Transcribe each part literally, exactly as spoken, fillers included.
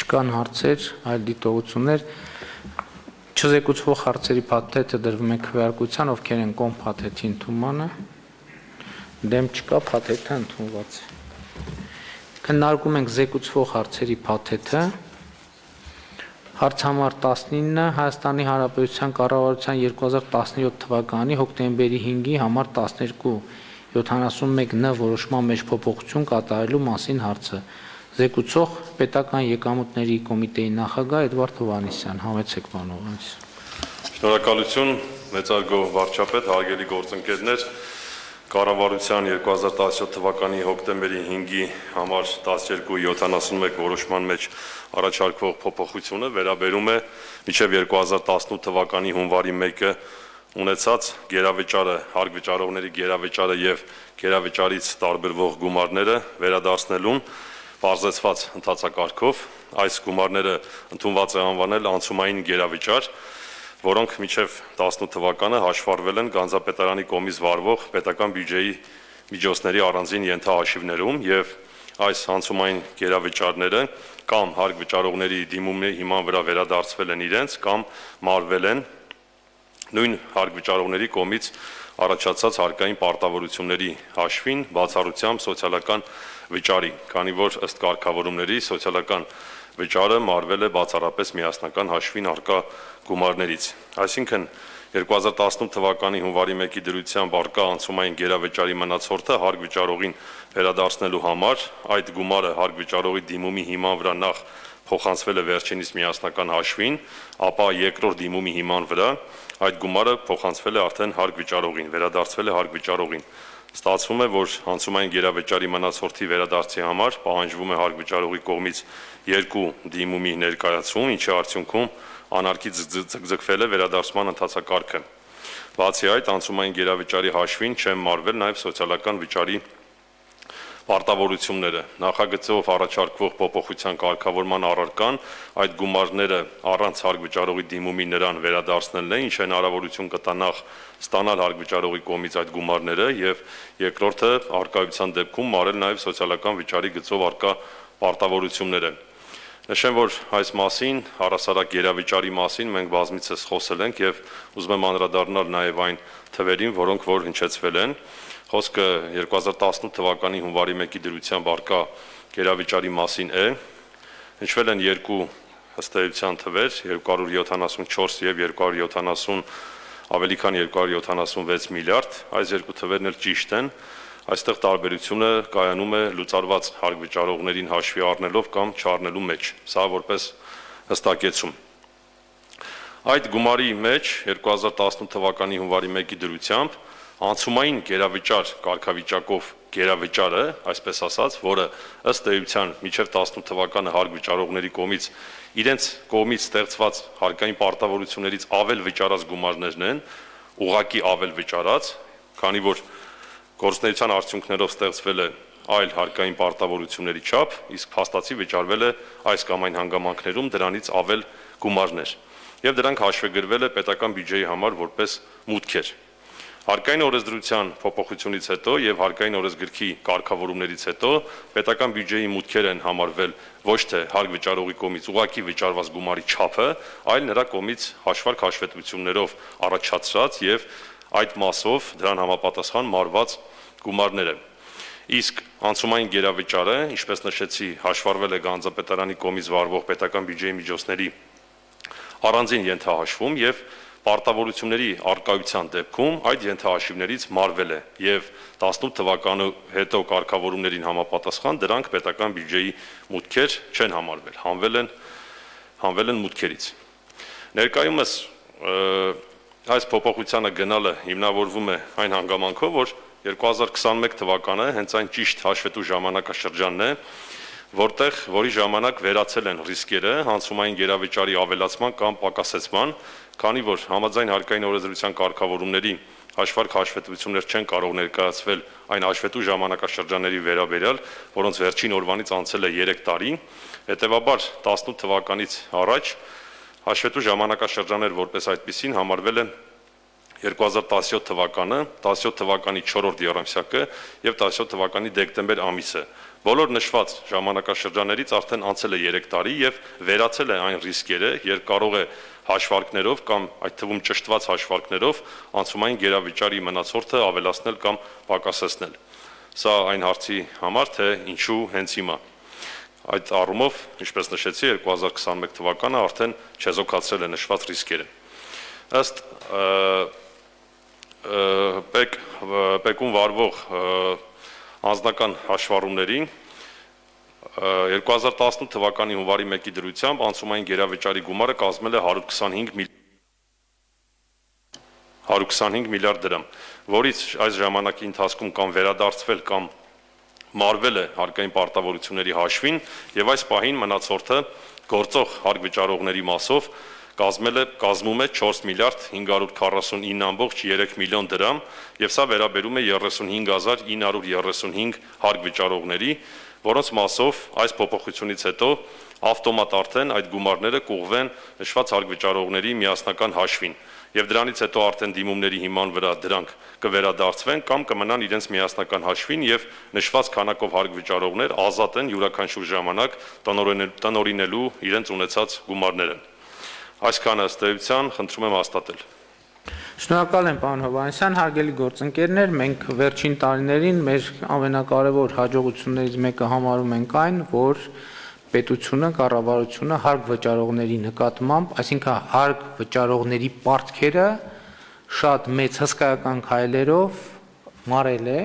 չկան հարցեր, այլ դիտողություններ, չզեկուցվող հարցերի փաթեթը դրվում է քվեարկության, ովքեր են կողմ փաթեթի ընդունմանը, դեմ չկա, փաթեթը ընդունված է։ Քննարկում ենք զեկուցվող հարցերի փաթեթը, հարց համար տասնինը, Հայաստանի Հանրապետության կառավարության երկու հազար տասնյոթ թվականի հոկտեմբերի հինգի համար տասներկու յոթանասունմեկ ն որոշման մեջ փոփոխություն կատարելու մասին հարցը։ Զեկուցող պետական եկամուտների կոմիտեի նախագահ Էդվարդ Հովհաննիսյան, համեցեք պարոն Հովհաննիսյան։ Շնորհակալություն, մեծարգո վարչապետ, հարգելի գործընկերներ, կառավարության երկու հազար տասնյոթ թվականի հոկտեմբերի հինգի համար տասներկու յոթանասունմեկ որոշման մեջ առաջարկվող փոփոխությունը վերաբերում է մինչև երկու հազար տասնութ թվականի հունվարի մեկը ունեցած գերավճարը, հարգվճարողների գերավճարը եւ գերավճարից տարբերվող գումարները վերադարձնելուն բարձրացված ընթացակարգով այս գումարները ընդունված է անվանել անցումային գերավճար, որոնք մինչև տասնութ թվականը հաշվառվել են Գանձապետարանի կողմից վարվող պետական բյուջեի միջոցների առանձին ենթահաշիվներում եւ այս անցումային գերավճարները կամ հարգվճարողների դիմումների հիման վրա վերադարձվել են իրենց կամ մարվել են նույն հարգվճարողների կողմից առաջացած հարկային պարտավորությունների հաշվին բացառությամբ սոցիալական վճարի, քանի որ ըստ կարգավորումների սոցիալական վճարը մարվել է բացառապես միասնական հաշվին առկա գումարներից։ Այսինքն երկու հազար տասնութ թվականի հունվարի մեկի դրությամբ առկա անցումային գերավճարի մնացորդը հարգվճարողին վերադարձնելու համար այդ գումարը հարգվճարողի դիմումի հիման վրա նախ փոխանցվել է վերջինիս միասնական հաշվին, ապա երկրորդ դիմումի հիման վրա այդ գումարը փոխանցվել է արդեն հարգվճարողին, վերադարձվել է հարգվճարողին։ Ստացվում է, որ անցումային գերավճարի մնացորդի վերադարձի համար պահանջվում է հարգվճարողի կողմից երկու դիմումի ներկայացում, ինչի արդյունքում անարգից ձգձգվել է վերադարձման ընթացակարգը։ Բացի այդ, անցումային գերավճարի հաշվին չեն մարվել նաև սոցիալական վճարի պարտավորությունները։ Նախագծով առաջարկվող փոփոխության կարգավորման առարկան այդ գումարները առանց հարգվճարողի դիմումի նրան վերադարձնելն է, ինչ հնարավորություն կտա նախ ստանալ հարգվճարողի կողմից այդ գումարները եւ երկրորդը արկայության դեպքում մարել նաև սոցիալական վճարի գծով առկա պարտավորությունները։ Նշեմ, որ այս մասին, առհասարակ գերավճարի մասին մենք բազմիցս խոսել ենք եւ ուզում եմ անդրադառնալ նաև այն թվերին, որոնք որ հնչեցվել են։ Խոսքը երկու հազար տասնութ թվականի հունվարի մեկի դրությամբ առկա գերավճարի մասին է։ Հնչվել են երկու ըստ էության թվեր՝ երկու հարյուր յոթանասունչորս եւ երկու հարյուր յոթանասուն ավելի քան երկու հարյուր յոթանասունվեց միլիարդ։ Այս երկու թվերն էլ ճիշտ են։ Այստեղ տարբերությունը կայանում է լուծարված հարգվճարողներին հաշվի առնելով կամ չառնելու մեջ, սա որպես հստակեցում։ Այդ գումարի մեջ երկու հազար տասնութ թվականի հունվարի մեկի դրությամբ անցումային գերավճար կարգավիճակով գերավճարը, այսպես ասած, որը ըստ էության մինչև տասնութ թվականը հարգվճարողների կողմից իրենց կողմից ստեղծված հարկային պարտավորություններից ավել վճարած գումարներն են, ուղղակի ավել վճարած, քանի որ գործունեության արդյունքներով ստեղծվել է այլ հարկային պարտավորությունների չափ, իսկ փաստացի վճարվել է այս կամ այն հանգամանքներում դրանից ավել գումարներ, եւ դրանք հաշվեգրվել է պետական բյուջեի համար որպես մուտքեր։ Հարկային օրենսդրության փոփոխությունից հետո եւ հարկային օրենսգրքի կարգավորումներից հետո պետական բյուջեի մուտքեր են համարվել ոչ թե հարգվճարողի կողմից ուղղակի վճարված գումարի չափը, այլ նրա կողմից հաշվարկ հաշվետվություններով առաջացրած եւ այդ մասով դրան համապատասխան մարված գումարները։ Իսկ անցումային գերավճարը, ինչպես նշեցի, հաշվառվել է Գանձապետարանի կողմից վարվող պետական բյուջեի միջոցների առանձին ենթահաշվում եւ պարտավորությունների արկայության դեպքում այդ ենթահաշիվներից մարվել է եւ տասնութ թվականի հետո կարգավորումներին համապատասխան դրանք պետական բյուջեի մուտքեր չեն համարվել, հանվել են հանվել են մուտքերից։ Ներկայումս այս փոփոխությանը գնալը հիմնավորվում է այն հանգամանքով, որ երկու հազար քսանմեկ թվականը հենց այն ճիշտ հաշվետու ժամանակաշրջանն է, որտեղ որի ժամանակ վերացել են ռիսկերը անցումային գերավճարի ավելացման կամ պակասեցման, քանի որ համաձայն հարկային օրենսդրության կարգավորումների հաշվարկ հաշվետվություններ չեն կարող ներկայացվել այն հաշվետու ժամանակաշրջանների վերաբերյալ, որոնց վերջին օրվանից անցել է երեք տարի, հետևաբար տասնութ թվականից առաջ հաշվետու ժամանակաշրջաններ որպես այդպիսին համարվել են երկու հազար տասնյոթ թվականը, տասնյոթ թվականի չորրորդ եռամսյակը եւ տասնյոթ թվականի դեկտեմբեր ամիսը, Բոլոր նշված ժամանակաշրջաններից արդեն անցել է երեք տարի եւ վերացել է այն ռիսկերը, երբ կարող է հաշվարկներով կամ այդ թվում ճշտված հաշվարկներով անցումային գերավիճարի մնացորդը ավելացնել կամ պակասեցնել։ Սա այն հարցի համար, թե ինչու հենց հիմա։ Այդ առումով, ինչպես նշեցի, երկու հազար քսաներեք թվականը արդեն չեզոքացրել է նշված ռիսկերը։ Ըստ ՊԵԿ-ում վարվող անձնական հաշվառումների երկու հազար տասնութ թվականի հունվարի մեկի դրությամբ անցումային գերավիճարի գումարը կազմել է հարյուր քսանհինգ միլիարդ դրամ, որից այս ժամանակի ընթացքում կամ վերադարձվել կամ մարվել է հարկային պարտավորությունների հաշվին եւ այս պահին մնացորդը գործող հարկ վճարողների մասով կազմել է կազմում է չորս միլիարդ հինգ հարյուր քառասունինը ամբողջ երեք միլիոն դրամ եւ սա վերաբերում է երեսունհինգ հազար ինը հարյուր երեսունհինգ հարկ վճարողների, որոնց մասով այս փոփոխությունից հետո ավտոմատ արդեն այդ գումարները կուղվեն նշված հարկ վճարողների միասնական հաշվին եւ դրանից հետո արդեն դիմումների հիման վրա դրանք կվերադարձվեն կամ կմնան իրենց միասնական հաշվին եւ նշված քանակով հարկ վճարողներ ազատ են յուրաքանչյուր ժամանակ տնօրինելու իրենց ունեցած գումարները։ Այսքանը ըստ էության խնդրում եմ հաստատել։ Շնորհակալ եմ, պարոն Հովհաննիսյան, հարգելի գործընկերներ, մենք վերջին տարիներին մեր ամենակարևոր հաջողություններից մեկը համարում ենք այն, որ պետությունը, կառավարությունը հարկ վճարողների նկատմամբ, այսինքն հարկ վճարողների պարտքերը շատ մեծ հսկայական քայլերով մարել է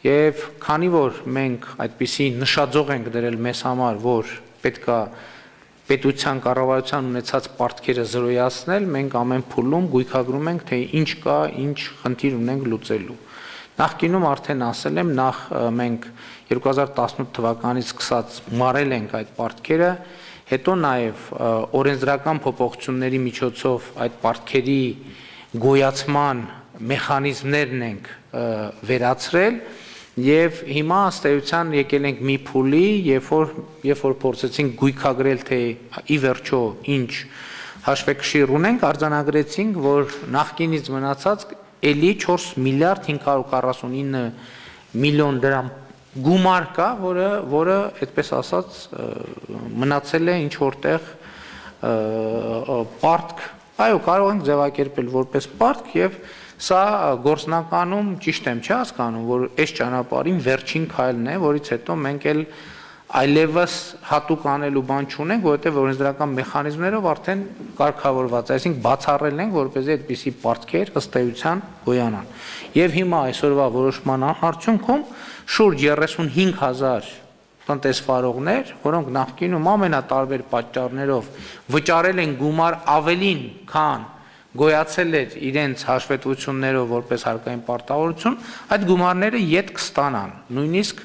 եւ քանի որ մենք այդպիսի նշաձող ենք դրել մեզ համար, որ պետքա պետության կառավարության ունեցած պարտքերը զրոյացնել, մենք ամեն փուլում գույքագրում ենք, թե ինչ կա, ինչ խնդիր ունենք լուծելու։ Նախկինում արդեն ասել եմ, նախ մենք երկու հազար տասնութ թվականից սկսած մարել ենք այդ պարտքերը, հետո նաև օրենսդրական փոփոխությունների միջոցով այդ պարտքերի գոյացման մեխանիզմներն ենք վերացրել եւ հիմա ըստ էության եկել ենք մի փուլի, երբ որ երբ որ փորձեցինք գույքագրել, թե ի վերջո ինչ հաշվեկշիռ ունենք, արձանագրեցինք, որ նախկինից մնացած էլի չորս միլիարդ հինգ հարյուր քառասունինը միլիոն դրամ գումար կա, որը որը այդպես ասած մնացել է ինչ որտեղ պարտք, այո, կարող ենք ձևակերպել որպես պարտք եւ սա գործնականում ճիշտ եմ չի հասկանում, որ այս ճանապարհին վերջին քայլն է, որից հետո մենք էլ այլևս հատուկ անելու բան չունենք, որովհետև օրենսդրական մեխանիզմներով արդեն կարգավորված, այսինքն բացառել ենք, որպեսզի այդպիսի պարտքեր ըստ էության գոյանան։ Եվ հիմա այսօրվա որոշման արդյունքում շուրջ երեսունհինգ հազար տնտեսվարողներ, որոնք նախկինում ամենատարբեր պատճառներով վճարել են գումար ավելին, քան գոյացել էր իրենց հաշվետվություններով որպես հարկային պարտավորություն, այդ գումարները ետ կստանան, նույնիսկ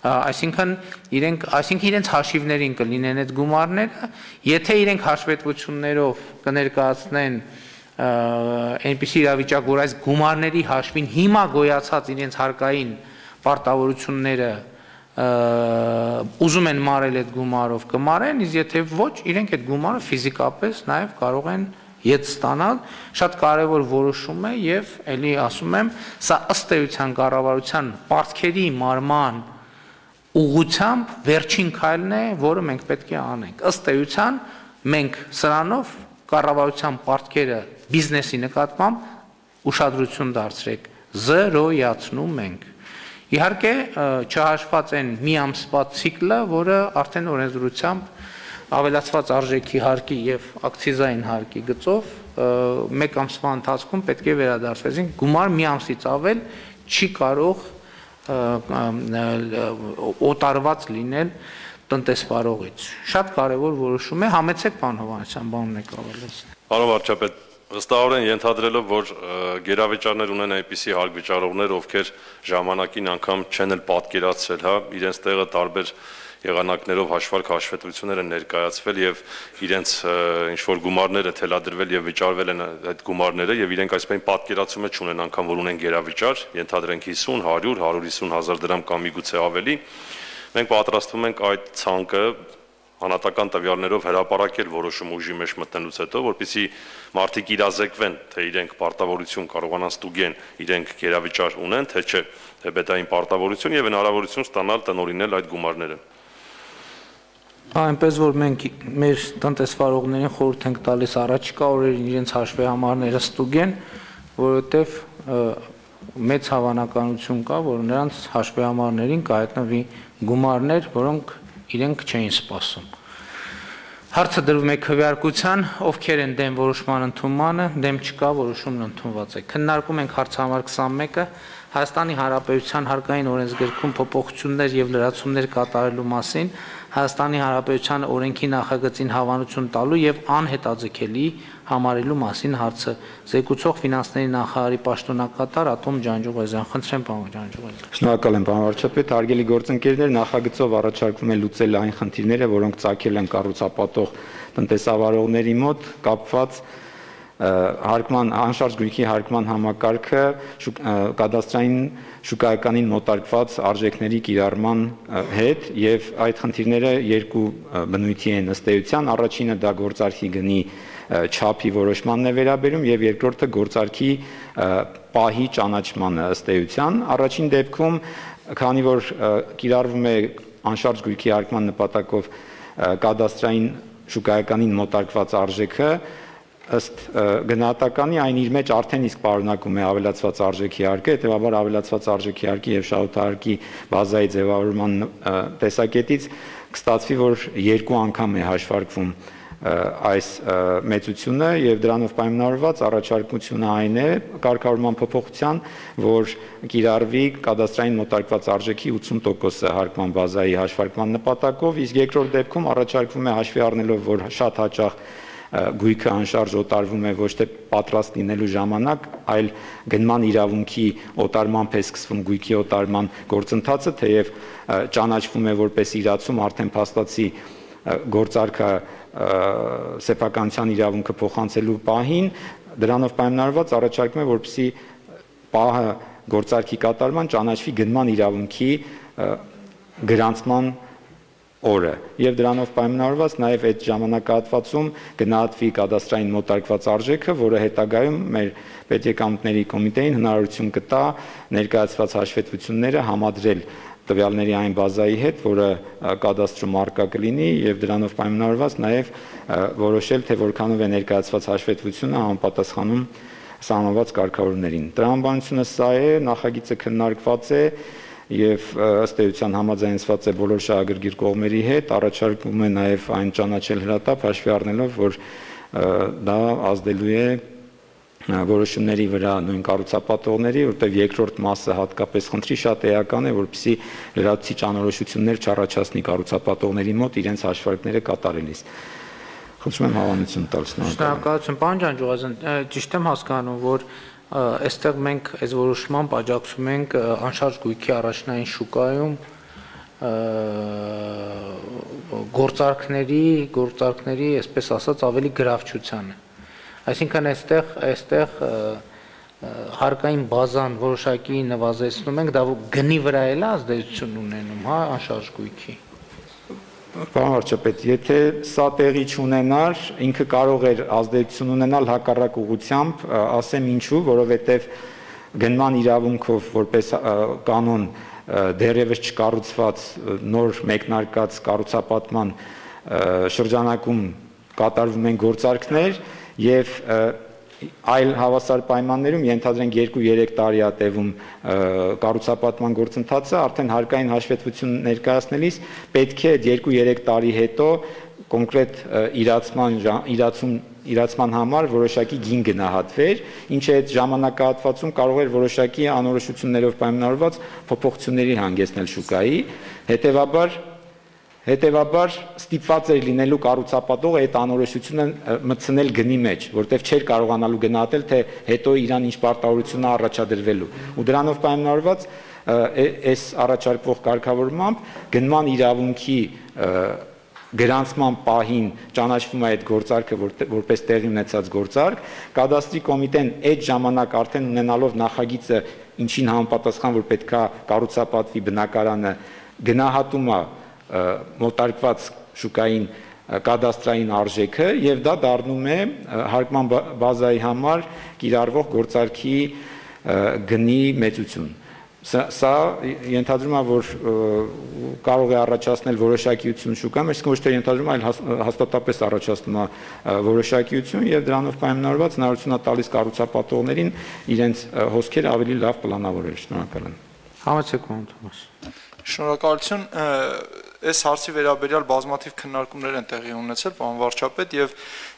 այսինքն իրենք, այսինքն իրենց հաշիվներին կլինեն այդ գումարները, եթե իրենք հաշվետվություններով կներկայացնեն այնպիսի իրավիճակ, որ այս գումարների հաշվին հիմա գոյացած իրենց հարկային պարտավորությունները ուզում են մարել այդ գումարով կմարեն, իսկ եթե ոչ, իրենք այդ գումարը ֆիզիկապես նաև կարող են ետ ստանալ, շատ կարևոր որոշում է եւ ելի ասում եմ, սա ըստ էության կառավարության պարտքերի մարման ուղղությամբ վերջին քայլն է, որը մենք պետք է անենք։ Ըստ էության մենք սրանով կառավարության պարտքերը բիզնեսի նկատմամբ ուշադրություն դարձրեք, զրոյացնում ենք։ Իհարկե չհաշված են մի ամսվա ցիկլը, որը արդեն օրենսդրությամբ ավելացված արժեքի հարկի եւ ակցիզային հարկի գծով մեկ ամսվա ընթացքում պետք է վերադարձվեն, գումար մի ամսից ավել չի կարող օտարված լինել տնտեսվարողից։ Շատ կարևոր որոշում է, համեցեք պարոն Հովհաննիսյան, բանն եք ավելացնել։ Պարոն վարչապետ, վստահորեն ենթադրելով, որ գերավիճարներ ունեն այնպիսի հարկ վճարողներ, ովքեր ժամանակին անգամ չեն էլ պատկերացրել, հա, իրենց տեղը տարբեր եղանակներով հաշվարկ հաշվետվություններ են ներկայացվել եւ իրենց ինչ որ գումարները թելադրվել եւ վճարվել են այդ գումարները եւ իրենք այսպես պատկերացումը չունեն անգամ որ ունեն գերավիճար, ենթադրենք հիսուն, հարյուր, հարյուր հիսուն հազար դրամ կամ միգուցե ավելի, մենք պատրաստվում ենք այդ ցանկը անհատական տվյալներով հրապարակել որոշում ուժի մեջ մտնելուց հետո, որպեսզի մարդիկ իրազեկվեն, թե իրենք պարտավորություն կարողանան ստուգեն, իրենք գերավիճար ունեն, թե չէ, թե բետային պարտավորություն եւ հնարավորություն ստանալ տնօրինել այդ գումարները։ Այնպես որ մենք մեր տնտեսվարողներին խորհուրդ ենք տալիս առաջիկա օրերին իրենց հաշվի համարները ստուգեն, որովհետեւ մեծ հավանականություն կա, որ նրանց հաշվի համարներին կհայտնվի գումարներ, որոնք իրենք չէին սպասում։ Հարցը դրվում է քվեարկության, ովքեր են դեմ որոշման ընդունմանը, դեմ չկա, որոշումն ընդունված է։ Քննարկում ենք հարցահամար քսանմեկը Հայաստանի Հանրապետության հարկային օրենսգրքում փոփոխություններ եւ լրացումներ կատարելու մասին, Հայաստանի Հանրապետության օրենքի նախագծին հավանություն տալու եւ անհետաձգելի համարելու մասին հարցը զեկուցող ֆինանսների նախարարի պաշտոնակատար Ատոմ Ջանջուղազյան։ Խնդրեմ, պարոն Ջանջուղազյան։ Շնորհակալ եմ, պարոն վարչապետ, հարգելի գործընկերներ, նախագծով առաջարկվում է լուծել այն խնդիրները, որոնք ծագել են կառուցապատող տնտեսավարողների մոտ կապված հարկման անշարժ գույքի հարկման համակարգը կադաստրային շուկայականին մոտարկված արժեքների կիրառման հետ եւ այդ խնդիրները երկու բնույթի են ըստ էության, առաջինը դա գործարքի գնի չափի որոշմանն է վերաբերում եւ երկրորդը գործարքի պահի ճանաչմանը ըստ էության։ Առաջին դեպքում, քանի որ կիրառվում է անշարժ գույքի հարկման նպատակով կադաստրային շուկայականին մոտարկված արժեքը, ըստ գնահատականի այն իր մեջ արդեն իսկ պարունակում է ավելացված արժեքի հարկը, հետևաբար ավելացված արժեքի հարկի եւ շահութահարկի բազայի ձևավորման տեսակետից կստացվի, որ երկու անգամ է հաշվարկվում այս մեծությունը եւ դրանով պայմանավորված առաջարկությունը այն է կարգավորման փոփոխության, որ կիրառվի կադաստրային մոտարկված արժեքի ութսուն տոկոսը հարկման բազայի հաշվարկման նպատակով, իսկ երկրորդ դեպքում առաջարկվում է հաշվի առնելով, որ շատ հաճախ գույքը անշարժ օտարվում է ոչ թե պատրաստ լինելու ժամանակ, այլ գնման իրավունքի օտարմամբ է սկսվում գույքի օտարման գործընթացը, թեև ճանաչվում է որպես իրացում արդեն փաստացի գործարքը սեփականության իրավունքը փոխանցելու պահին, դրանով պայմանավորված առաջարկում է, որպեսզի պահը գործարքի կատարման ճանաչվի գնման իրավունքի գրանցման օրը եւ դրանով պայմանավորված նաեւ այդ ժամանակահատվածում գնահատվի կադաստրային մոտարկված արժեքը, որը հետագայում մեր պետեկամուտների կոմիտեին հնարավորություն կտա ներկայացված հաշվետվությունները համադրել տվյալների այն բազայի հետ, որը կադաստրում առկա կլինի եւ դրանով պայմանավորված նաեւ որոշել, թե որքանով է ներկայացված հաշվետվությունը համապատասխանում սահմանված կարգավորումներին։ Տրամաբանությունը սա է, նախագիծը քննարկված է եւ ըստ էության համաձայնեցված է բոլոր շահագրգիռ կողմերի հետ, առաջարկում է նաեւ այն ճանաչել հրատապ հաշվի առնելով, որ դա ազդելու է որոշումների վրա նույն կառուցապատողների, որտեղ երկրորդ մասը հատկապես խնդրի շատ էական է, որպեսզի լրացուցիչ անորոշություններ չառաջացնի կառուցապատողների մոտ իրենց հաշվարկները կատարելիս։ Խնդրում եմ հավանություն տալ։ Շնորհակալություն, պարոն Ջանջուղազյան, ճիշտ եմ հասկանում, որ այստեղ մենք այս որոշմամբ աջակցում ենք անշարժ գույքի առաջնային շուկայում գործարքների, գործարքների, այսպես ասած, ավելի գրավչությանը։ Այսինքն այստեղ, այստեղ հարկային բազան որոշակի նվազեցնում ենք, դա գնի վրա էլ ազդեցություն ունենում, հա, անշարժ գույքի։ Պարոն վարչապետ, եթե սա տեղի չունենար, ինքը կարող էր ազդեցություն ունենալ հակառակ ուղղությամբ, ասեմ ինչու, որովհետև գնման իրավունքով որպես կանոն դեռևս չկառուցված նոր մեկնարկած կառուցապատման շրջանակում կատարվում են գործարքներ եւ այլ հավասար պայմաններում ենթադրենք երկու-երեք տարի է տևում կառուցապատման գործընթացը, արդեն հարկային հաշվետվություն ներկայացնելիս պետք է այդ երկու-երեք տարի հետո կոնկրետ իրացման իրացում իրացման համար որոշակի գին գնահատվեր, ինչը այդ ժամանակահատվածում կարող էր որոշակի անորոշություններով պայմանավորված փոփոխությունների հանգեցնել շուկայի, հետեւաբար Հետևաբար ստիպված էր լինելու կառուցապատողը այդ անորոշությունը մտցնել գնի մեջ, որտեղ չէր կարողանալու գնահատել, թե հետո իրան ինչ պարտավորություն է առաջադրվելու։ Ու դրանով պայմանավորված այս առաջարկվող կարգավորմամբ գնման իրավունքի գրանցման պահին ճանաչվում է այդ գործարքը որպես տեղի ունեցած գործարք, կադաստրի կոմիտեն այդ ժամանակ արդեն ունենալով նախագիծը, ինչին համապատասխան որ պետքա կառուցապատվի բնակարանը, գնահատում է մոտարկված շուկային կադաստրային արժեքը եւ դա դառնում է հարկման բազայի համար կիրառվող գործարքի գնի մեծություն։ Սա ենթադրում է, որ կարող է առաջացնել որոշակիություն շուկայում, այսինքն ոչ թե ենթադրում, այլ հաստատապես առաջացնում է որոշակիություն եւ դրանով պայմանավորված հնարավորություն է տալիս կառուցապատողներին իրենց հոսքերը ավելի լավ պլանավորել։ Շնորհակալ եմ։ Համեցեք, պարոն Թոմաս։ Շնորհակալություն, այս հարցի վերաբերյալ բազմաթիվ քննարկումներ են տեղի ունեցել, պարոն վարչապետ, եւ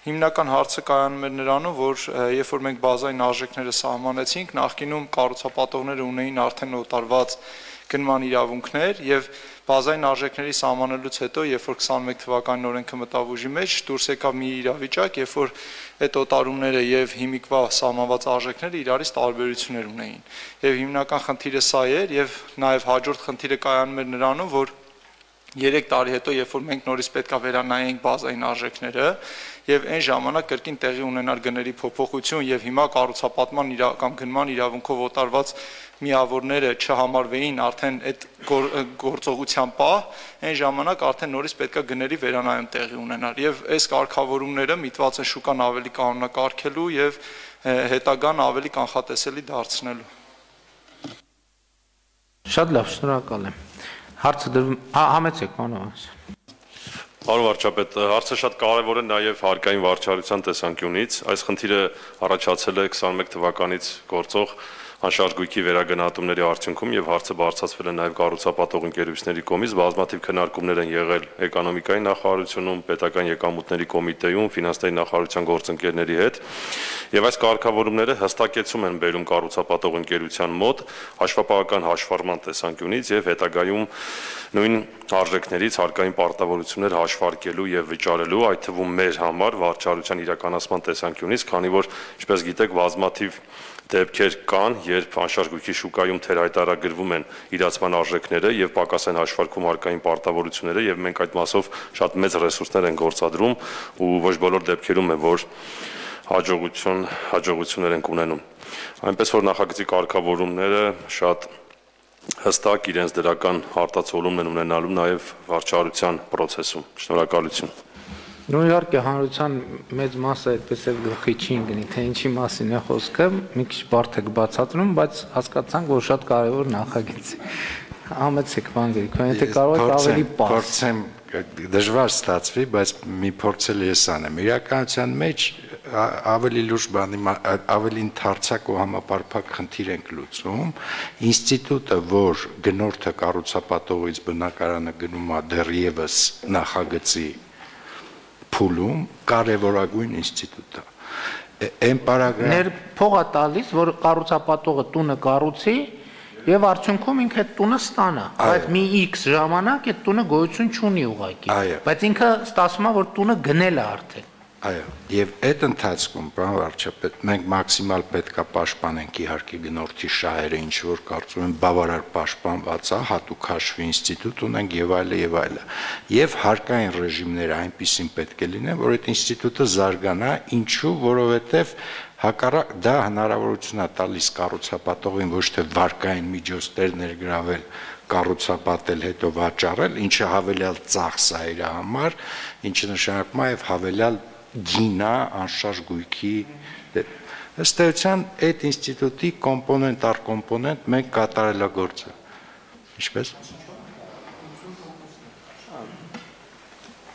հիմնական հարցը կայանում էր նրանում, որ երբ որ մենք բազային արժեքները սահմանեցինք, նախկինում կառուցապատողները ունեին արդեն օտարված գնման իրավունքներ եւ բազային արժեքների սահմանելուց հետո, երբ որ քսանմեկ թվականին օրենքը մտավ ուժի մեջ, դուրս եկավ մի իրավիճակ, երբ որ այդ օտարումները եւ հիմիկվա սահմանված արժեքները իրարից տարբերություններ ունեին։ Եվ հիմնական խնդիրը սա էր եւ նաեւ հաջորդ խնդիրը կայանում էր նրանում, որ երեք տարի հետո, երբ որ մենք նորից պետքա վերանայենք բազային արժեքները եւ այն ժամանակ կրկին տեղի ունենար գների փոփոխություն եւ հիմա կառուցապատման կամ գնման իրավունքով օտարված միավորները չհամարվեին արդեն այդ գործողության պահ, այն ժամանակ արդեն նորից պետքա գների վերանայում տեղի ունենար եւ այս կարգավորումները միտված են շուկան ավելի կանոնակարգելու եւ հետագան ավելի կանխատեսելի դարձնելու։ Շատ լավ, շնորհակալ եմ։ Հարցը դրվում, համեցեք, պարոն։ Պարոն վարչապետ, հարցը շատ կարևոր է նաև հարկային վարչարության տեսանկյունից։ Այս խնդիրը առաջացել է քսանմեկ թվականից գործող անշարժ գույքի վերագնահատումների արդյունքում եւ հարցը բարձրացվել է նաեւ կառուցապատող ընկերությունների կողմից, բազմաթիվ քննարկումներ են եղել էկոնոմիկայի նախարարությունում, պետական եկամուտների կոմիտեում, ֆինանսների նախարարության գործընկերների հետ եւ այս կարգավորումները հստակեցում են բերում կառուցապատող ընկերության մոտ հաշվապահական հաշվառման տեսանկյունից եւ հետագայում նույն արժեքներից հարկային պարտավորություններ հաշվարկելու եւ վճարելու, այդ թվում մեր համար վարչարության իրականացման տեսանկյունից, քանի որ, ինչպես գիտեք, բազմաթիվ դեպքեր կան, երբ անշարժ գույքի շուկայում թերհայտարագրվում են իրացման արժեքները եւ պակաս են հաշվարկում հարկային պարտավորությունները եւ մենք այդ մասով շատ մեծ ռեսուրսներ են գործադրում ու ոչ բոլոր դեպքերում է, որ հաջողություն, հաջողություններ են ունենում։ Այնպես որ նախագծի կարգավորումները շատ հստակ իրենց դրական արտացոլումն են ունենալու նաեւ վարչարության process-ում։ Շնորհակալություն։ Նույն իհարկե հանրության մեծ մասը այդպես էլ գլխի չի ընկնի, թե ինչի մասին է խոսքը, մի քիչ բարդ եք բացատրում, բայց հասկացանք, որ շատ կարևոր նախագիծ է։ Համեցեք, պարոն Գրիգորյան, եթե կարող եք ավելի պարզ։ Փորձեմ, դժվար ստացվի, բայց մի փորձել ես անեմ։ Իրականության մեջ ավելի լուրջ բանի, ավելի ընդարձակ ու համապարփակ խնդիր ենք լուծում։ Ինստիտուտը, որ գնորդը կառուցապատողից բնակարանը գնում է դեռևս նախագծի փուլում կարևորագույն ինստիտուտ է։ Այն պարագրաֆ Ներ փողա տալիս, որ կառուցապատողը տունը կառուցի եւ արդյունքում ինքը այդ տունը ստանա, բայց մի X ժամանակ այդ տունը գոյություն չունի ուղղակի, բայց ինքը ստացվում է, որ տունը գնել է արդեն։ Այո, եւ այդ ընթացքում, պարոն վարչապետ, մենք մաքսիմալ պետքա պաշտպանենք իհարկե գնորդի շահերը, ինչ որ կարծում եմ բավարար պաշտպանված է, հատուկ հաշվի ինստիտուտ ունենք եւ այլը եւ այլը։ Եվ հարկային ռեժիմները այնպեսին պետք է լինեն, որ այդ ինստիտուտը զարգանա, ինչու, որովհետեւ հակառակ դա հնարավորություն է տալիս կառուցապատողին ոչ թե վարկային միջոցներ ներգրավել, կառուցապատել, հետո վաճառել, ինչը հավելյալ ծախս է իր համար, ինչը նշանակում է եւ հավելյալ գինա անշարժ գույքի ըստ էության այդ ինստիտուտի կոմպոնենտ առ կոմպոնենտ մենք կատարելագործը ինչպես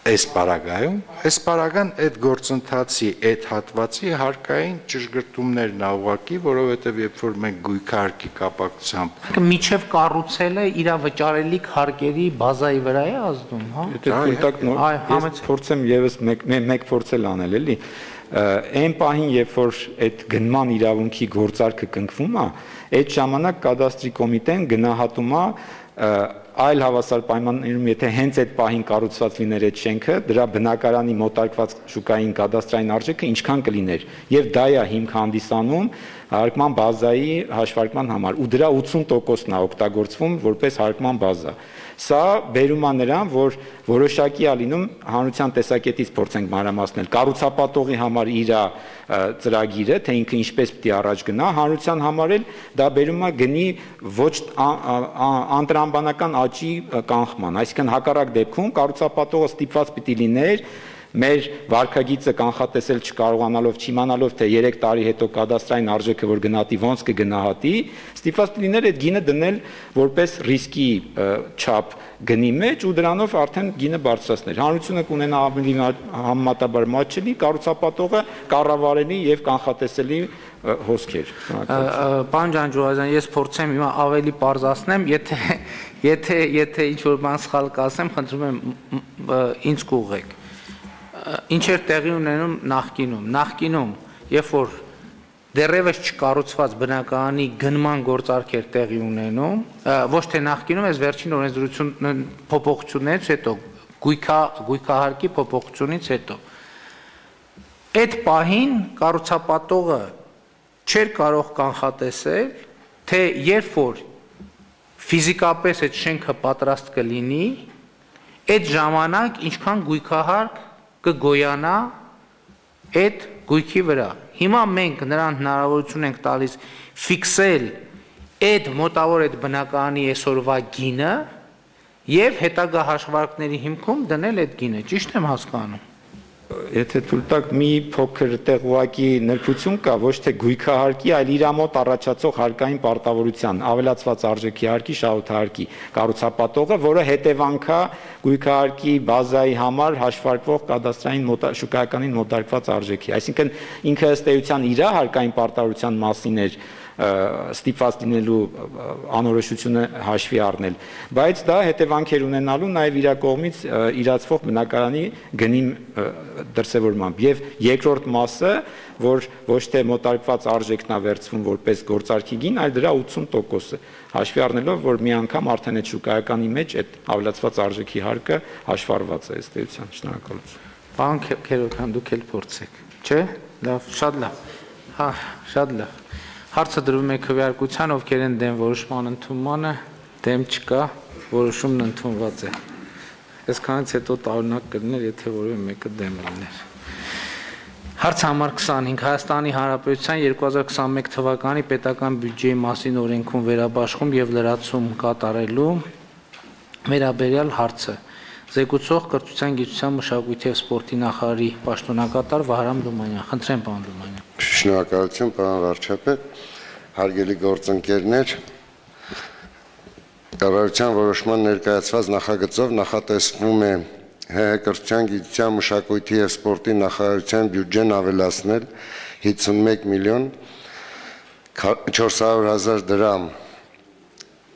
այս պարագայում այս պարագան այդ գործընթացի այդ հատվածի հարկային ճշգրտումներն ուղղակի որովհետև երբ որ մենք գույքահարկի կապակցությամբ միջև կառուցելը իր վճարելիք հարկերի բազայի վրա է ազդում, հա։ Ես փորձեմ եւս մեկ փորձել անել էլի այն պահին երբ որ այդ գնման իրավունքի գործարքը կնքվում է, այդ ժամանակ կադաստրի կոմիտեն գնահատում է այլ հավասար պայմաններում, եթե հենց այդ պահին կառուցված լիներ այդ շենքը, դրա բնակարանի մոտարկված շուկային կադաստրային արժեքը ինչքան կլիներ, եւ դա է հիմք հանդիսանում հարկման բազայի հաշվարկման համար, ու դրա ութսուն տոկոսն է օգտագործվում որպես հարկման բազա։ Սա բերում է նրան, որ որոշակի է լինում հանրության տեսակետից փորձենք մանրամասնել կառուցապատողի համար իր ծրագիրը, թե ինքը ինչպես պիտի առաջ գնա, հանրության համար էլ դա բերում է գնի ոչ անտրամբանական աճի կանխման, այսինքն հակառակ դեպքում կառուցապատողը ստիպված պիտի լիներ մեր վարկագիծը կանխատեսել չկարողանալով, չիմանալով, թե երեք տարի հետո կադաստրային արժեքը որ գնահատի, ոնց կգնահատի, ստիպված լիներ այդ գինը դնել որպես ռիսկի չափ գնի մեջ ու դրանով արդեն գինը բարձրացներ։ Հանրությունը կունենա ավելի համեմատաբար մատչելի, կառուցապատողը կառավարելի եւ կանխատեսելի հոսքեր։ Պարոն Ջանջուազյան, ես փորձեմ հիմա ավելի պարզացնեմ, եթե եթե եթե ինչ որ բան սխալ կասեմ, խնդրում եմ ինձ կուղղեք։ Ինչ էր տեղի ունենում նախկինում, նախկինում, երբ որ դեռևս չկառուցված բնակարանի գնման գործարքեր տեղի ունենում, ոչ թե նախկինում, այս վերջին օրենսդրություն փոփոխություններից հետո, գույքահարկի փոփոխությունից հետո, այդ պահին կառուցապատողը չէր կարող կանխատեսել, թե երբ որ ֆիզիկապես այդ շենքը պատրաստ կլինի, այդ ժամանակ ինչքան գույքահարկ կգոյանա այդ գույքի վրա։ Հիմա մենք նրան հնարավորություն ենք տալիս ֆիքսել այդ մոտավոր այդ բնակարանի այսօրվա գինը եւ հետագա հաշվարկների հիմքում դնել այդ գինը, ճիշտ եմ հասկանում։ Եթե թույլ տաք մի փոքր տեղուակի նրբություն կա, ոչ թե գույքահարկի, այլ իր մոտ առաջացող հարկային պարտավորության, ավելացված արժեքի հարկի, շահութահարկի կառուցապատողը, որը հետևանքա գույքահարկի բազայի համար հաշվարկվող կադաստրային շուկայականին մոտարկված արժեքի։ Այսինքն ինքը ըստ էության իր հարկային պարտավորության մասին էր ստիպված լինելու անորոշությունը հաշվի առնել, բայց դա հետևանքեր ունենալու նաև իր կողմից իրացվող բնակարանի գնի դրսևորմամբ եւ երկրորդ մասը, որ ոչ թե մոտարկված արժեքն է վերցվում որպես գործարքի գին, այլ դրա ութսուն տոկոսը, հաշվի առնելով, որ մի անգամ արդեն այդ շուկայականի մեջ այդ ավելացված արժեքի հարկը հաշվառված է ըստ էության։ Շնորհակալություն։ Պարոն Քերոքյան, դուք էլ փորձեք, չէ՞։ Լավ, շատ լավ։ Հա, շատ լավ։ Հարցը դրվում է քվեարկության, ովքեր են դեմ որոշման ընդունմանը, դեմ չկա, որոշումն ընդունված է։ Այսքանից հետո տարօրինակ կլիներ, եթե որևէ մեկը դեմ լիներ։ Հարց համար քսանհինգ Հայաստանի Հանրապետության երկու հազար քսանմեկ թվականի պետական բյուջեի մասին օրենքում վերաբաշխում եւ լրացում կատարելու վերաբերյալ հարցը զեկուցող կրթության, գիտության, մշակույթի եւ սպորտի նախարարի պաշտոնակատար Վահրամ Դումանյան։ Խնդրեմ, պարոն Դումանյան։ Շնորհակալություն, պարոն վարչապետ, հարգելի գործընկերներ, կառավարության որոշման ներկայացված նախագծով նախատեսվում է ՀՀ կրթության, գիտության, մշակույթի եւ սպորտի նախարարության բյուջեն ավելացնել հիսունմեկ միլիոն չորս հարյուր հազար դրամ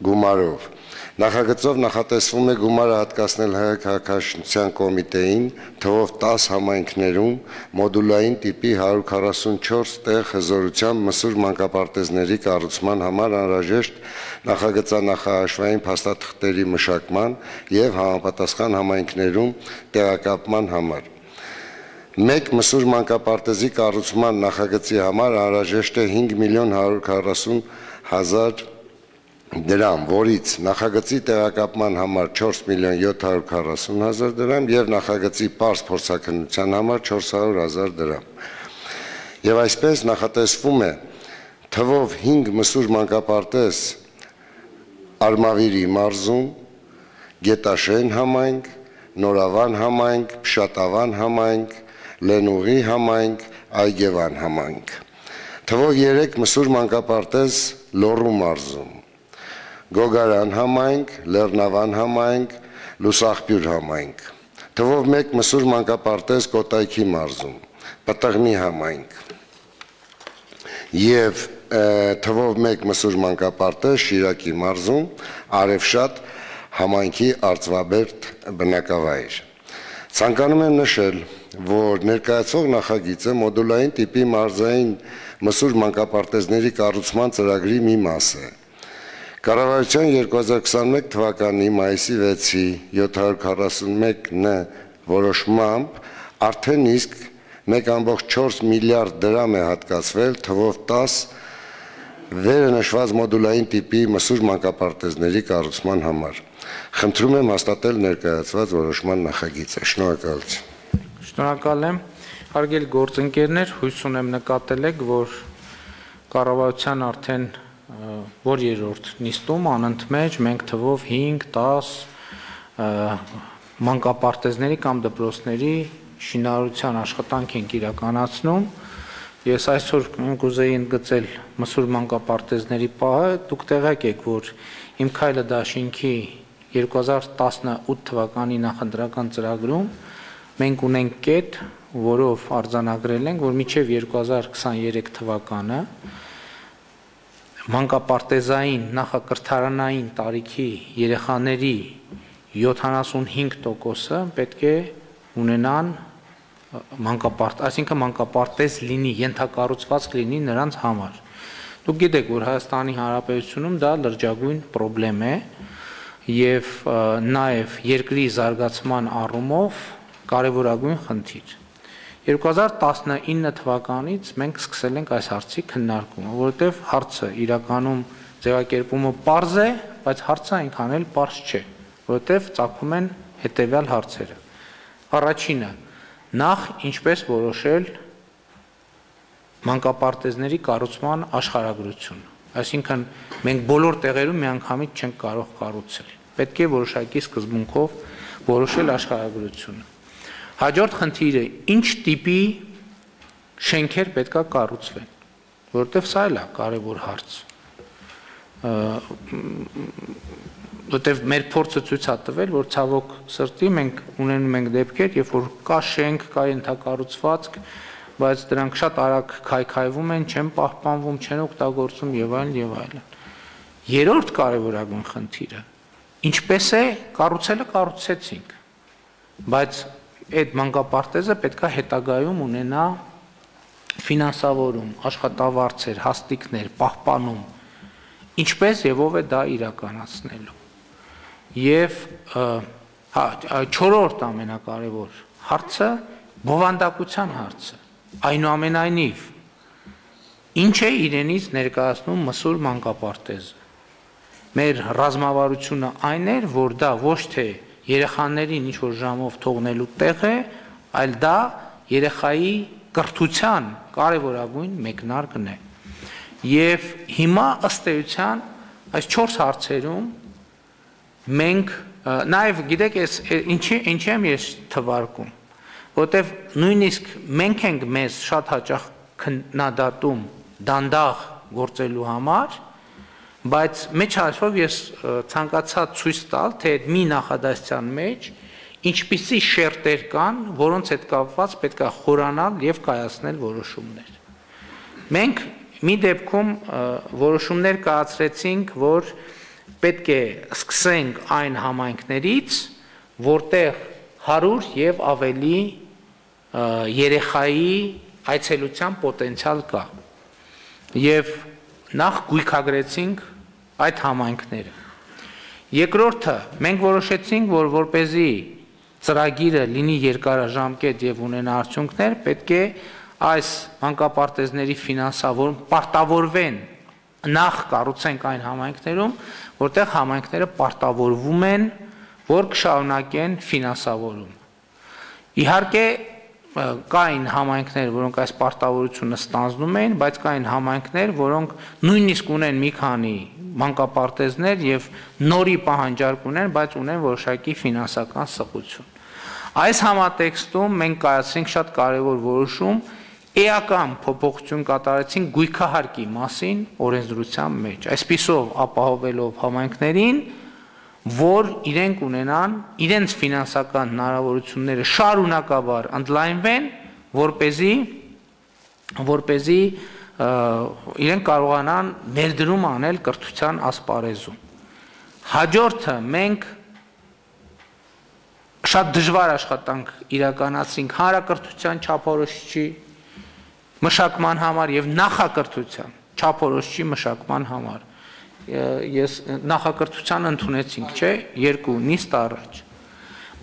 գումարով։ Նախագծով նախատեսվում է գումարը հատկացնել ՀՀ քաղաքաշինության կոմիտեին թվով տաս համայնքներում մոդուլային տիպի հարյուր քառասունչորս տեղ հզորությամբ մսուր մանկապարտեզների կառուցման համար անհրաժեշտ նախագծանախահաշվային փաստաթղթերի մշակման եւ համապատասխան համայնքներում տեղակայման համար։ Մեկ մսուր մանկապարտեզի կառուցման նախագծի համար անհրաժեշտ է հինգ միլիոն հարյուր քառասուն հազար դրամ, որից նախագծի տեղակայման համար չորս միլիոն յոթ հարյուր քառասուն հազար դրամ եւ նախագծի պարզ փորձաքննության համար չորս հարյուր հազար դրամ։ Եվ այսպես նախատեսվում է թվով հինգ մսուր մանկապարտեզ Արմավիրի մարզում, Գետաշեն համայնք, Նորավան համայնք, Փշատավան համայնք, Լենուղի համայնք, Այգևան համայնք։ Թվով երեք մսուր մանկապարտեզ Լոռու մարզում, Գոգարան համայնք, Լեռնավան համայնք, Լուսախբյուր համայնք։ Թվով մեկ մսուր մանկապարտեզ Կոտայքի մարզում, Պտղմի համայնք։ Եվ թվով մեկ մսուր մանկապարտեզ Շիրակի մարզում, Արևշատ համայնքի Արծվաբերդ բնակավայր։ Ցանկանում եմ նշել, որ ներկայացվող նախագիծը մոդուլային տիպի մարզային մսուր մանկապարտեզների կառուցման ծրագրի մի մաս է։ Կառավարության երկու հազար քսանմեկ թվականի մայիսի վեցի յոթ հարյուր քառասունմեկ Ն որոշմամբ արդեն իսկ մեկ կόμքան չորս միլիարդ դրամ է հատկացվել թվով տաս վերը նշված մոդուլային տիպի մսուր մանկապարտեզների կառուցման համար։ Խնդրում եմ հաստատել ներկայացված որոշման նախագիծը։ Շնորհակալություն։ Շնորհակալ եմ։ Հարգելի գործընկերներ, հույս ունեմ նկատել եք, որ կառավարության արդեն որ երրորդ նիստում անընդմեջ մենք թվով հինգ դես մանկապարտեզների կամ դպրոցների շինարարության աշխատանք ենք իրականացնում։ Ես այսօր կուզեի ընդգծել մսուր մանկապարտեզների պահը, դուք տեղյակ եք, որ Իմ քայլը դաշինքի երկու հազար տասնութ թվականի նախընտրական ծրագրում մենք ունենք կետ, որով արձանագրել ենք, որ մինչև երկու հազար քսաներեք թվականը մանկապարտեզային նախակրթարանային տարիքի երեխաների յոթանասունհինգ տոկոսը պետք է ունենան մանկապարտ, այսինքն մանկապարտեզ լինի, ենթակառուցվածք լինի նրանց համար։ Դուք գիտեք, որ Հայաստանի Հանրապետությունում դա լրջագույն խնդրեմ է եւ նաեւ երկրի զարգացման առումով կարևորագույն խնդիր։ երկու հազար տասնինը թվականից մենք սկսել ենք այս հարցի քննարկումը, որովհետեւ հարցը իրականում ձևակերպումը պարզ է, բայց հարցը այնքան էլ պարզ չէ, որովհետեւ ծագում են հետեւյալ հարցերը։ Առաջինը, նախ ինչպես որոշել մանկապարտեզների կառուցման աշխարհագրություն, այսինքն մենք բոլոր տեղերում միանգամից չենք կարող կառուցել, պետք է որոշակի սկզբունքով որոշել աշխարհագրությունը։ Հաջորդ խնդիրը, ինչ տիպի շենքեր պետք է կառուցվեն, որովհետև սա էլ է կարևոր հարց, որովհետև մեր փորձը ցույց է տվել, որ ցավոք սրտի մենք ունենում ենք դեպքեր, երբ որ կա շենք, կա ենթակառուցվածք, բայց դրանք շատ արագ քայքայվում են, չեն պահպանվում, չեն օգտագործվում եւ այլն եւ այլն։ Երրորդ կարևորագույն խնդիրը, ինչպես է կառուցելը կառուցեցինք, բայց այդ մանկապարտեզը պետք է հետագայում ունենա ֆինանսավորում, աշխատավարձեր, հաստիկներ, պահպանում, ինչպես եւ ով է դա իրականացնելու։ Եվ չորրորդ ամենակարևոր հարցը բովանդակության հարցը։ Այնուամենայնիվ, ինչ է իրենից ներկայացնում մսուր մանկապարտեզը։ Մեր ռազմավարությունը այն էր, որ դա ոչ թե երեխաներին ինչ-որ ժամով թողնելու տեղ է, այլ դա երեխայի կրթության կարևորագույն մեկնարկն է։ Եվ հիմա ըստ էության այս չորս հարցերում մենք նաև գիտեք ես ինչի ինչի եմ ես թվարկում, որտեվ նույնիսկ մենք ենք մեզ շատ հաճախ քննադատում դանդաղ գործելու համար, բայց մեջ հաշվով ես ցանկացա ցույց տալ, թե այդ մի նախադասության մեջ ինչպիսի շերտեր կան, որոնց հետ կապված պետք է խորանալ եւ կայացնել որոշումներ։ Մենք մի դեպքում որոշումներ կայացրեցինք, որ պետք է սկսենք այն համայնքներից, որտեղ հարյուր եւ ավելի երեխայի այցելության պոտենցիալ կա։ Եվ նախ գույքագրեցինք այդ համայնքները։ Երկրորդը, մենք որոշեցինք, որ որպեսզի ծրագիրը լինի երկարաժամկետ եւ ունենա արդյունքներ, պետք է այս մանկապարտեզների ֆինանսավորում պարտավորվեն նախ կառուցենք այն համայնքներում, որտեղ համայնքները պարտավորվում են, որ կշարունակեն ֆինանսավորում։ Իհարկե կային համայնքներ, որոնք այս պարտավորությունը ստանձնում էին, բայց կային համայնքներ, որոնք նույնիսկ ունեն մի քանի մանկապարտեզներ եւ նորի պահանջարկ ունեն, բայց ունեն որոշակի ֆինանսական սղություն։ Այս համատեքստում մենք կայացրինք շատ կարևոր որոշում, էական փոփոխություն կատարեցինք գույքահարկի մասին օրենսդրության մեջ, այսպիսով ապահովելով համայնքներին, որ իրենք ունենան իրենց ֆինանսական հնարավորությունները շարունակաբար ընդլայնվեն, որպեսզի որպեսզի իրենք կարողանան ներդրում անել կրթության ասպարեզում։ Հաջորդը մենք շատ դժվար աշխատանք իրականացրինք հանրակրթության չափորոշիչի մշակման համար եւ նախակրթության չափորոշիչի մշակման համար։ Ես նախակրթության ընդունեցինք, չէ, երկու նիստ առաջ։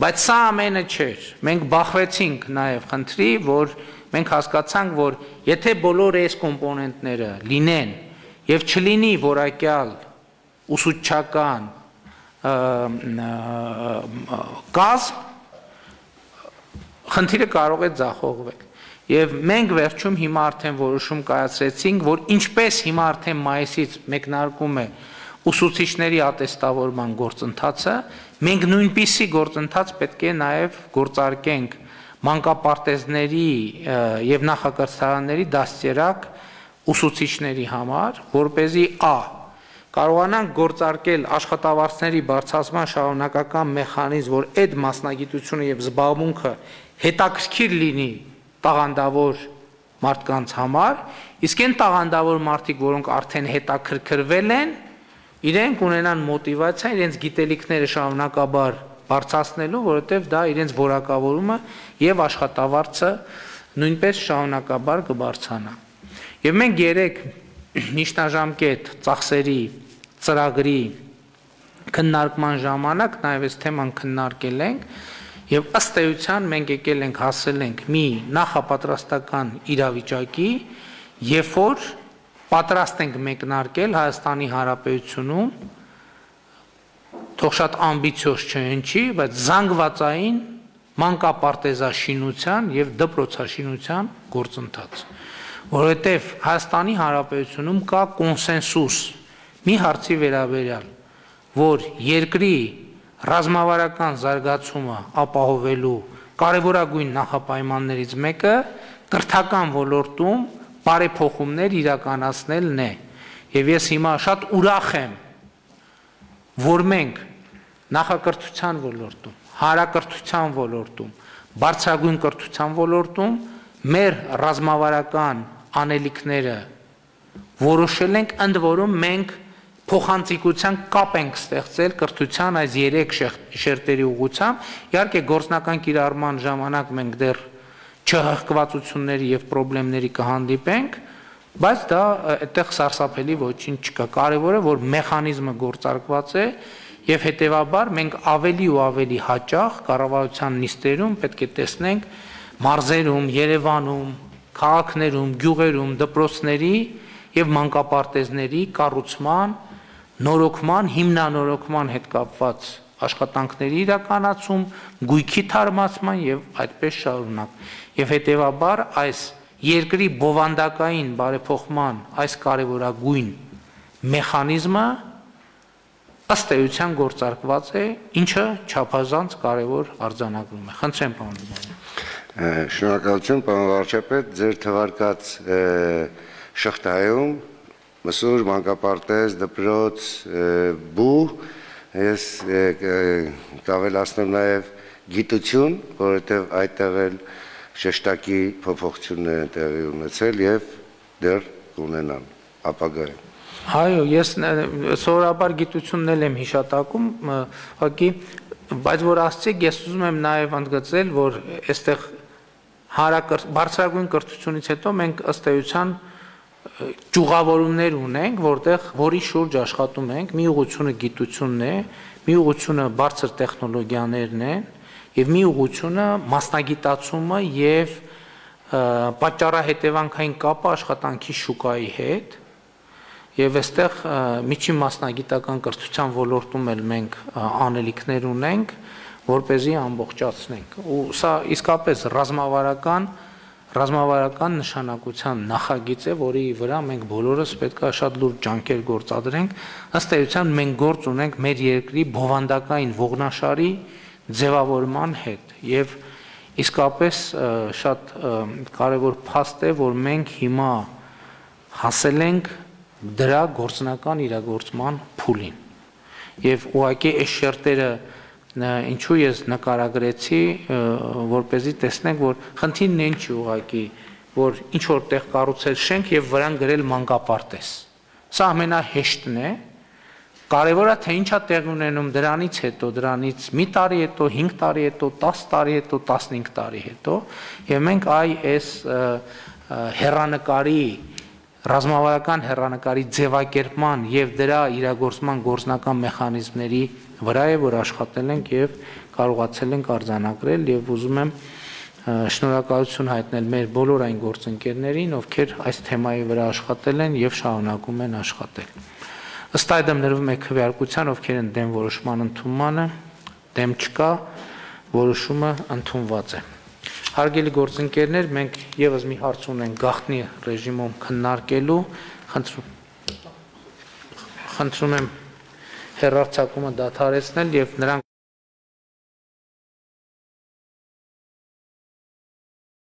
Բայց սա ամենը չէր։ Մենք բախվեցինք նաև խնդրի, որ մենք հասկացանք, որ եթե բոլոր այս կոմպոնենտները լինեն եւ չլինի որակյալ ուսուցչական կազմ, խնդիրը կարող է ձախողվել։ Եվ մենք վերջում հիմա արդեն որոշում կայացրեցինք, որ ինչպես հիմա արդեն մայիսից մեկնարկում է ուսուցիչների ատեստավորման գործընթացը, մենք նույնպիսի գործընթաց պետք է նաև գործարկենք մանկապարտեզների եւ նախակրթարանների դաստիարակ ուսուցիչների համար, որպեսզի ա կարողանանք գործարկել աշխատավարձների բարձրացման շարունակական մեխանիզմ, որ այդ մասնագիտությունը եւ զբաղմունքը հետաքրքիր լինի տաղանդավոր մարդկանց համար, իսկ այն տաղանդավոր մարդիկ, որոնք արդեն հետաքրքրվել են, իրենք ունենան մոտիվացիա իրենց գիտելիքները շարունակաբար բարձրացնելու, որովհետև դա իրենց որակավորումը եւ աշխատավարձը նույնպես շարունակաբար կբարձրանա։ Եվ մենք երեք միջնաժամկետ ծախսերի ծրագրի քննարկման ժամանակ նաեւ այս թեման քննարկել ենք եւ ըստ էության մենք եկել ենք հասել ենք մի նախապատրաստական իրավիճակի, երբ որ պատրաստ ենք մեկնարկել Հայաստանի Հանրապետությունում թող շատ ամբիցիոզ չհնչի, բայց զանգվածային մանկապարտեզաշինության եւ դպրոցաշինության գործընթաց, որովհետեւ Հայաստանի Հանրապետությունում կա կոնսենսուս մի հարցի վերաբերյալ, որ երկրի ռազմավարական զարգացումը ապահովելու կարևորագույն նախապայմաններից մեկը կրթական ոլորտում բարեփոխումներ իրականացնելն է։ Եվ ես հիմա շատ ուրախ եմ, որ մենք նախակրթության ոլորտում, հանրակրթության ոլորտում, բարձրագույն կրթության ոլորտում մեր ռազմավարական անելիքները որոշել ենք, ընդ որում մենք փոխանցիկության կապ ենք ստեղծել կրթության այս երեք շերտերի ուղղությամբ, իհարկե գործնական կիրառման ժամանակ մենք դեռ չհղկվածությունների եւ խնդիրների կհանդիպենք, բայց դա այդտեղ սարսափելի ոչինչ չկա։ Կարևորը որ մեխանիզմը գործարկված է եւ հետեւաբար մենք ավելի ու ավելի հաճախ կառավարության նիստերում պետք է տեսնենք մարզերում, Երևանում, քաղաքներում, գյուղերում, դպրոցների եւ մանկապարտեզների կառուցման, նորոգման, հիմնանորոգման հետ կապված աշխատանքների իրականացում, գույքի թարմացման եւ այդպես շարունակ։ Եվ հետեւաբար այս երկրի բովանդակային բարեփոխման այս կարևորագույն մեխանիզմը ըստ էության գործարկված է, ինչը չափազանց կարևոր արձանագրում է։ Խնդրեմ, պարոն Դուբարյան։ Շնորհակալություն, պարոն վարչապետ, ձեր թվարկած շղթայում մսուր, մանկապարտեզ, դպրոց, բու, ես կավելացնեմ նաև գիտություն, որովհետև այդտեղ էլ շեշտակի փոփոխություններ են տեղի ունեցել եւ դեռ կունենան ապագայում։ Այո, ես սովորաբար գիտությունն էլ եմ հիշատակում, ուղղակի, բայց որ ասցիք, ես ուզում եմ նաև ընդգծել, որ այստեղ բարձրագույն կրթությունից հետո մենք ըստ էության ճյուղավորումներ ունենք, որտեղ որի շուրջ աշխատում ենք, մի ուղղությունը գիտությունն է, մի ուղղությունը բարձր տեխնոլոգիաներն են, եւ մի ուղղությունը մասնագիտացումը եւ պատճառահետևանքային կապը աշխատանքի շուկայի հետ եւ այստեղ միջին մասնագիտական կրթության ոլորտում էլ մենք անելիքներ ունենք, որպեսզի ամբողջացնենք։ Ու սա իսկապես ռազմավարական ռազմավարական նշանակության նախագիծ է, որի վրա մենք բոլորս պետք է շատ լուրջ ջանքեր գործադրենք։ Ըստ էության մենք գործ ունենք մեր երկրի բովանդակային ողնաշարի ձևավորման հետ եւ իսկապես շատ կարևոր փաստ է, որ մենք հիմա հասել ենք դրա գործնական իրագործման փուլին եւ ուղղակի այս շերտերը ինչու ես նկարագրեցի, որպեսզի տեսնենք, որ խնդիրն է ինչի ուղղակի, որ ինչ որտեղ կառուցել շենք եւ վրան գրել մանկապարտեզ։ Սա ամենահեշտն է։ Կարևորը թե ինչա տեղ ունենում դրանից հետո, դրանից մի տարի հետո, հինգ տարի հետո, տասը տարի հետո, տասնհինգ տարի հետո, եւ մենք այ այս հեռանկարի ռազմավարական հեռանկարի ձևակերպման եւ դրա իրագործման գործնական մեխանիզմների վրա է, որ աշխատել ենք եւ կարողացել ենք արձանագրել եւ ուզում եմ շնորհակալություն հայտնել մեր բոլոր այն գործընկերներին, ովքեր այս թեմայի վրա աշխատել են եւ շարունակում են աշխատել։ Ըստ այդմ ներվում է քվեարկության, ովքեր են դեմ որոշման ընդունմանը, դեմ չկա, որոշումը ընդունված է։ Հարգելի գործընկերներ, մենք եւս մի հարց ունենք գաղտնի ռեժիմում քննարկելու, խնդրում խնդրում եմ հեռարձակումը դադարեցնել եւ նրանք